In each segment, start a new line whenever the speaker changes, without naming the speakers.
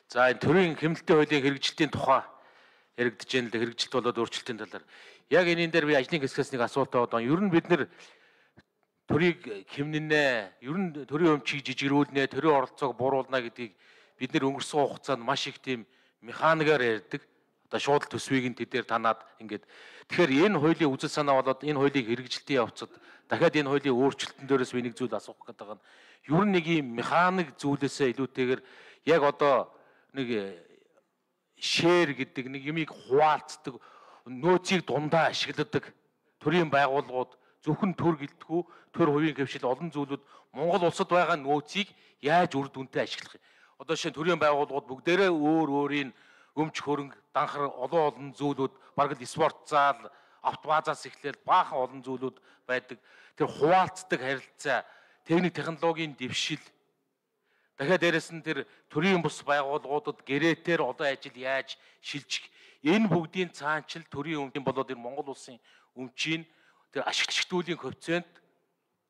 За энэ төрийн хэмнэлтийн хуулийн хэрэгжилтийн тухай яригдж байна л да, хэрэгжилт болоод өөрчлөлтийн талаар. Яг энийн дээр би ажлын хэсгээс нэг асуулт байгаа. Ер нь бид нэр төрийг хэмнэнэ, ер нь төрийн өмчийг жижигрүүлнэ, төрийн оролцоог бууруулна гэдгийг бид нэр өнгөрсөн хугацаанд маш их тийм механикаар ярьдаг. Одоо шууд төсвийг нь тэдээр танаад ингээд. Тэгэхээр энэ хуулийн үзэл санаа болоод энэ хуулийг хэрэгжилтийн явцад дахиад энэ хуулийн өөрчлөлтөн дээрээс би нэг зүйл асуух гэдэг нь ер нь нэг юм механик зүйлээсээ илүүтэйгээр яг одоо нэг шеэр гэдэг нэг юмыг хуваалцдаг, нөөцийг дундаа ашигладаг төрийн байгууллагууд зөвхөн төр гэлтгүү, төр хувийн хвшил олон зүйлүүд Монгол улсад байгаа нөөцийг яаж үр дүнтэй ашиглах юм. Одоо шинэ төрийн байгууллагууд бүгдээрээ өөр өөрийн өмч хөрөнгө, данхар олон зүйлүүд, бараг л спорт зал, автобазаас эхлээл баахан олон зүйлүүд байдаг. Тэр хуваалцдаг харилцаа, техник технологийн дэвшил, дахиад дээрэс нь тэр төрийн бус байгууллагуудад гэрээтээр одоо ажил яаж шилжих, энэ бүгдийн цаанчил төрийн өмчийн болоод энэ Монгол улсын өмчийн тэр ашиглалтын коэффициент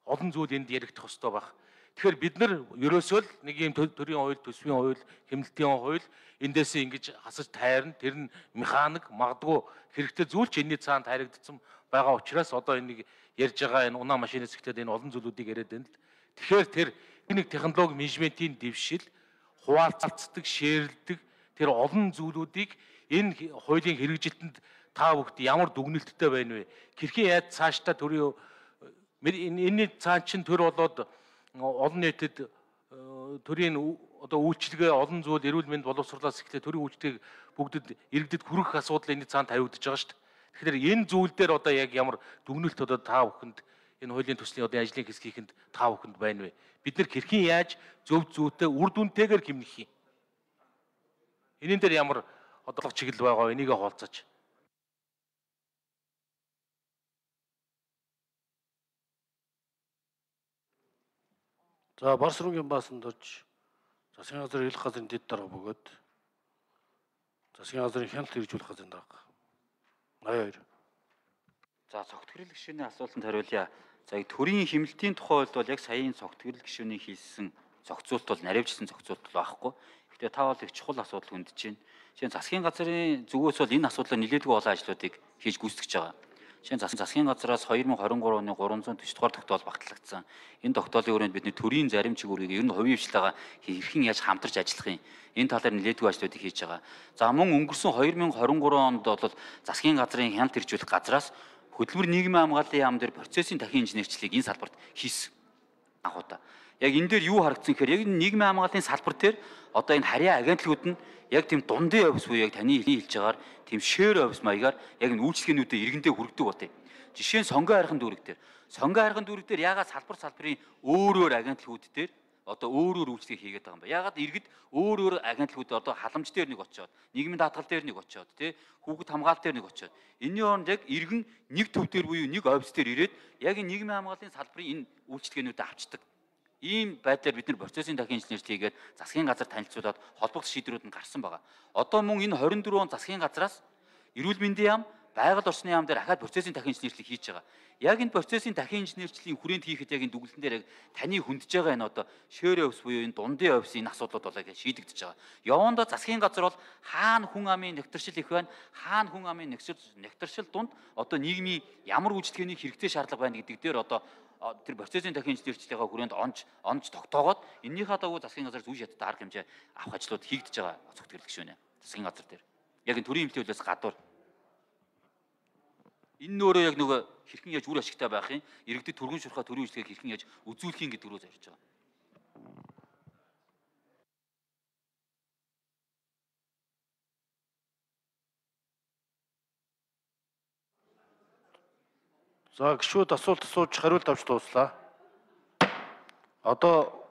олон зүйл энд яригдах ёстой байх. Тэгэхээр бид нар ерөөсөө л нэг юм төрийн хууль, төсвийн хууль, хэмнэлтийн хууль эндээсээ ингэж хасаж тайрна. Тэр нь механик магадгүй хэрэгтэй зүйл ч энэний цаанд харигдсан байгаа учраас одоо энийг ярьж байгаа энэ унаа машинаас эхлээд энэ олон зүйлүүдийг яриад байна л. Тэгэхээр тэр нэг технологи менежментийн дэвшил, хуваалцдаг, шеэрлдэг тэр олон зүйлүүдийг энэ хуулийн хэрэгжилтэнд та бүхд ямар дүгнэлттэй байна вэ? Хэрхэн яаж цаашдаа төрийн энэний цаан чин төр болоод олон нийтэд төрийн одоо үйлчлэгээ олон зүйл эрүүл мэнд боловсруулалтаас эхлээ төрийн үйлчлэгийг бүгдэд иргэдэд хүргэх асуудал энэ цаанд тавигдаж байгаа шүү дээ. Тэгэхээр энэ зүйл дээр одоо яг ямар дүгнэлт одоо та бүхэнд энэ хуулийн төслийн одоо ажлын хэсгийнхэнд та бүхэнд байна вэ? Бид нар хэрхэн яаж зөв зүйтэй үр дүнтэйгээр хэмнэх юм? Энийн дээр ямар одоо чиглэл байгаа вэ? Энийгээ хуваалцаач.
За Барсруугийн баасанд орж засгийн газрын хэлэх газрын дэд дарга бөгөөд засгийн газрын хяналт хэрэгжүүлэх газрын дарга 82.
За цогт гэрэл гишүүний асуултанд хариулъя. За төрийн хэмнэлтийн тухай бол яг саяын цогт гэрэл гишүүний хийсэн зохицуулт бол наривчсан зохицуулт байхгүй. Гэхдээ та бол их чухал асуудал хүндэж байна. Жишээ нь засгийн газрын зүгээс бол энэ асуудлаар нэлээдгүй олон ажлуудыг хийж гүйцэтгэж байгаа. Жишээ нь засгийн газраас 2023 оны 340 дугаар тогтоол багтлагдсан. Энэ тогтоолын хүрээнд бид төрийн зарим чигүүрийг ер нь хувийн хвшлээгаа хэрхэн яаж хамтарч ажиллах юм. Энэ талаар нэлээдгүй ажлуудыг хийж байгаа. За мөн өнгөрсөн 2023 онд бол засгийн газрын хяналт хэрэгжүүлэх газраас хөдөлмөр нийгмийн хамгааллын яам дээр процессын дахин инженерчлийг энэ салбарт хийсэн анхудаа. Яг энэ дээр юу харагдсан гэхээр яг нийгмийн хамгааллын салбар дээр одоо энэ харьяа агентлагууд нь яг тийм дундын офис буюу яг таны хэлж байгаагаар тийм шеэр офис маягаар яг энэ үйлчлэгээнүүдэд иргэндээ хүргэдэг бот. Жишээ нь сонгон хайрхан дүүрэг дээр. Сонгон хайрхан дүүрэг дээр ягаад салбарын өөр агентлагууд дээр одоо өөр үйлчлэг хийгээд байгаа юм бэ? Ягаад иргэд өөр агентлагууд одоо халамж дээр нэг очиод, нийгмийн даатгал дээр нэг очиод, тий хүүхэд хамгаалалт дээр нэг очиод. Энэний оронд яг иргэн нэг төв дээр буюу нэг офис дээр ирээд яг энэ нийгмийн хамгааллын салбарын энэ үйлчлэгээнүүдэд авчдаг. Ийм байдлаар бид нар процессын дахин инженерчлэг хийгээд засгийн газар танилцуулаад холбогдох шийдвэрүүд нь гарсан байгаа. Одоо мөн энэ 24 он засгийн газраас эрүүл мэндийн яам, байгаль орчны яам дээр ахаад процессын дахин инженерчлэг хийж байгаа. Яг энэ процессын дахин инженерчлийн хүрээнд хийхэд яг энэ дүгнэлтэн дээр яг таны хүндэж байгаа энэ одоо шеэр офис буюу энэ дундын офисын энэ асуудлууд бол яг шийдэгдэж байгаа. Явандаа засгийн газар бол хаана хүн амын нэгтэршил их байна, хаана хүн амын нэгтэршил дунд одоо нийгмийн ямар үйлчлэгээний хэрэгтэй шаардлага байна гэдэг дээр одоо тэр процессын дахин инженерчлэгийн хүрээнд онж тогтоогоод эннийхээ дагуу засгийн газар зүй шаттай арга хэмжээ авах ажлууд хийгдэж байгаа цогт гэрэл гишүүнэ. Засгийн газар дээр. Яг энэ төрийн эмнэлгийн хуулиас гадуур. Энэ нөөрөө яг нөгөө хэрхэн яаж үр ашигтай байх юм, иргэдэд түргэн шурхаа төрийн үйлчлэгийг хэрхэн яаж үзүүлэх юм гэдэг рүү зорж байгаа.
За гишүүд асуулт асууж хариулт авч дууслаа. Одоо